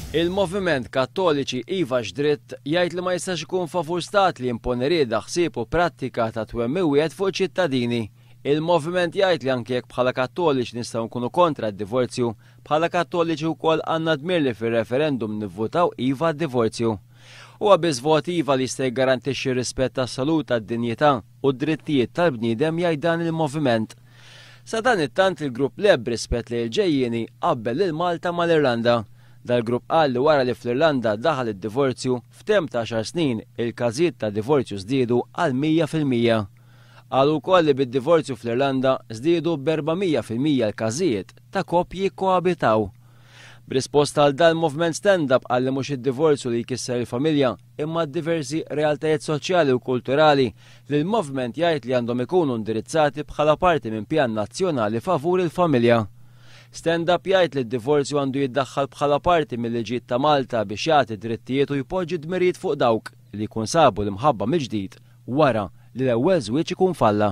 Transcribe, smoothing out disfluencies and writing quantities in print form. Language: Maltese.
Il-Moviment Kattoliċi Iva X'Dritt jgħid li ma jistax ikun favur stat li jimponi rieda, ħsieb u prattika ta' twemmin wieħed fuq iċ-ċittadini. Il-Moviment jgħid li anki jekk bħala Kattoliċi nistgħu nkunu kontra d-divorzju, bħala Kattoliċi wkoll għandna dmir li fir-referendum nivvutaw iva għad-divorzju. Huwa biss vot iva li jista' jiggarantixxi r-rispett assolut għad-dinjità u d-drittijiet tal-bniedem jgħid dan il-moviment. Sadanittant il-grupp Le b'rispett lejn il-ġejjieni qabbel lil Malta mal-Irlanda. Dal-grupp qal li wara li fl-Irlanda daħal id-divorzju, f'temp ta' għaxar snin il-każijiet ta' divorzju żdiedu għal 100%. Qalu wkoll li bid-divorzju fl-Irlanda żdiedu b'400% l-każijiet ta' koppji jikkoabitaw. B'risposta għal dan Movement Stand Up qal li mhux id-divorzju li jkisser il-familja imma d-diversi realtajiet soċjali u kulturali li l-Movement jgħid li għandhom ikunu indirizzati bħala parti minn pjan nazzjonali favur il-familja. Stand Up jgħid li d-divorzju għandu jiddaħħal bħala parti mil-liġijiet ta' Malta biex jagħti drittijiet u jpoġġi dmirijiet fuq dawk li jkun sabu l-imħabba mill-ġdid wara li l-ewwel żwieġ ikun falla.